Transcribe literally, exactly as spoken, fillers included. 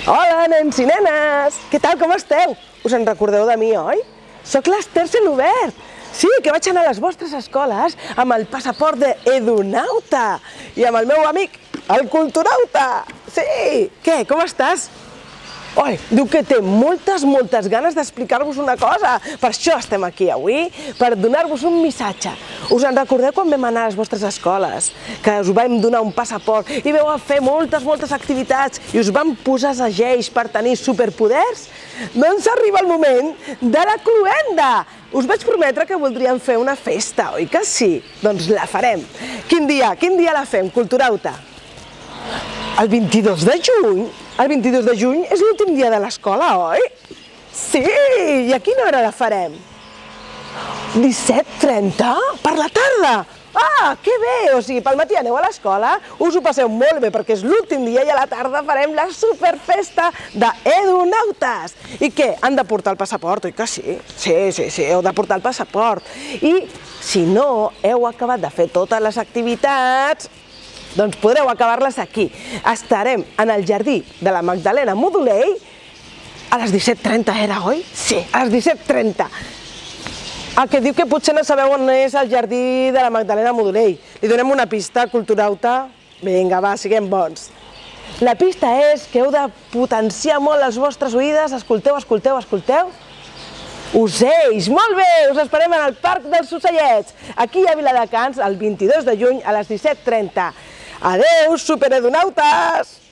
Hola, nens i nenes! Què tal, com esteu? Us en recordeu de mi, oi? Soc l'Ester Celobert. Sí, que vaig anar a les vostres escoles amb el passaport d'Edunauta i amb el meu amic, el Culturauta. Sí! Què, com estàs? Oi, diu que té moltes, moltes ganes d'explicar-vos una cosa. Per això estem aquí avui, per donar-vos un missatge. Us en recordeu quan vam anar a les vostres escoles? Que us vam donar un passaport i vau fer moltes, moltes activitats i us vam posar segells per tenir superpoders? Doncs arriba el moment de la cloenda! Us vaig prometre que voldríem fer una festa, oi que sí? Doncs la farem. Quin dia? Quin dia la fem, Culturauta? El vint-i-dos de juny? El vint-i-dos de juny és l'últim dia de l'escola, oi? Sí! I a quina hora la farem? disset trenta? Per la tarda? Ah, que bé! O sigui, pel matí aneu a l'escola, us ho passeu molt bé perquè és l'últim dia i a la tarda farem la superfesta d'Edunautes. I què? Han de portar el passaport, oi que sí? Sí, sí, sí, heu de portar el passaport. I si no heu acabat de fer totes les activitats, doncs podreu acabar-les aquí. Estarem en el jardí de la Magdalena Modolell a les disset trenta, era, oi? Sí, a les disset trenta. El que diu que potser no sabeu on és el jardí de la Magdalena Modolell. Li donem una pista, Culturauta? Vinga, va, siguem bons. La pista és que heu de potenciar molt les vostres oïdes. Escolteu, escolteu, escolteu. Ocells, molt bé, us esperem en el Parc dels Ocellets, aquí a Viladecans, el vint-i-dos de juny a les disset trenta. Adéu, superedunautes!